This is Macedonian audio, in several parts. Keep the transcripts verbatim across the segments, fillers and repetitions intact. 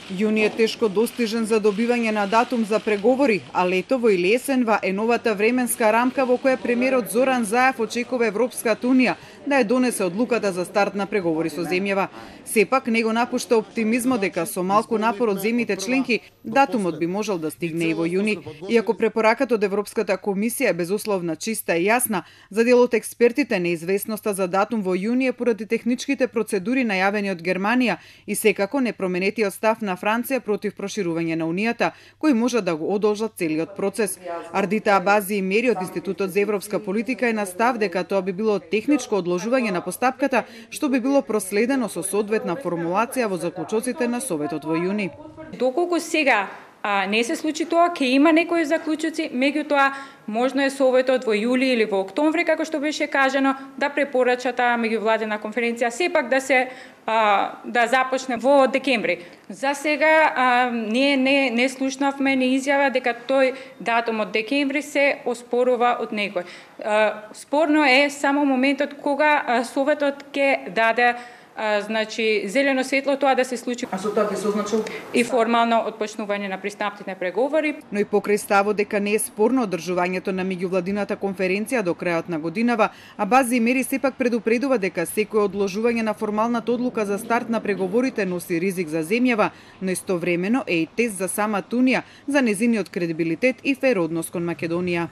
Јуни е тешко достижен за добивање на датум за преговори, а летово или есенва е новата временска рамка во која премиерот Зоран Заев очекува Европската унија да ја донесе одлуката за старт на преговори со земјава. Сепак не го напушта оптимизмот дека со малку напор од земјите членки датумот би можел да стигне и во јуни. Иако препораката од Европската комисија е безусловна, чиста и јасна, за дел од експертите неизвестноста за датум во јуни е поради техничките процедури најавени од Германија и секако непроменетиот став на Франција против проширување на Унијата, кои може да го одолжат целиот процес. Ардита Абази и Мери од Институтот за европска политика е на став дека тоа би било техничко одложување на постапката, што би било проследено со соодветна формулација во заклучоците на Советот во јуни. Доколку сега а, не се случи тоа, ќе има некои заклучоци, меѓутоа можно е Советот во јули или во октомври, како што беше кажано, да препорача таа меѓувладена конференција сепак да се а, да започне во декември. За сега а, ние не не слушнавме ни изјава дека тој датум од декември се оспорува од некој. А, спорно е само моментот кога а, Советот ќе даде А, значи зелено светло тоа да се случи. А со тоа би се означил и формално отпочнување на пристапните преговори. Но и покрај ставот дека не е спорно одржувањето на меѓувладината конференција до крајот на годинава, Абази и Мери сепак предупредува дека секој одложување на формалната одлука за старт на преговорите носи ризик за земјава, но истовремено е и тест за самата Унија, за незиниот кредибилитет и фер однос кон Македонија.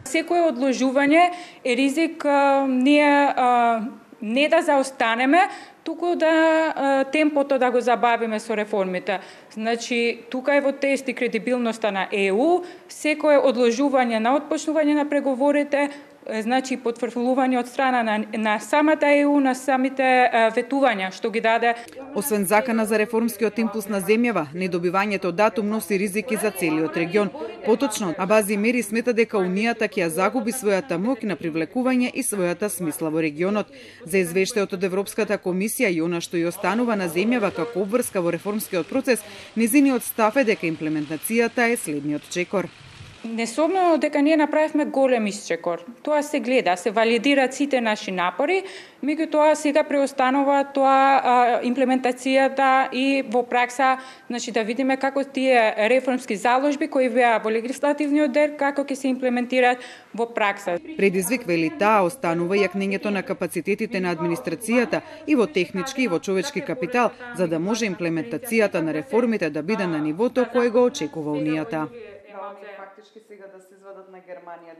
Секое одложување е ризик а, ние а, не да заостанеме, туку да а, темпото да го забавиме со реформите. Значи, тука е во тест и кредибилноста на Е У, секое одложување на отпочнување на преговорите, значи потврдување од страна на, на самата Е У, на самите а, ветувања што ги даде. Освен закана за реформскиот импулс на земјава, недобивањето датум носи ризики за целиот регион. Поточно, Абази Мери смета дека Унијата ќе ја загуби својата моќ на привлекување и својата смисла во регионот. За извештајот од Европската комисија и она што ја останува на земјава како обврска во реформскиот процес, незиниот став е дека имплементацијата е следниот чекор. Несомнено дека ние направивме голем исчекор. Тоа се гледа, се валидираат сите наши напори, меѓутоа сега преостанува тоа а, имплементацијата и во пракса, значи да видиме како тие реформски заложби кои беа во легислативниот дел како ќе се имплементираат во пракса. Предизвик вели таа останува јакнењето на капацитетите на администрацијата и во технички и во човечки капитал, за да може имплементацијата на реформите да биде на нивото кое го очекува Унијата. Фактички сега да се извадат на Германија.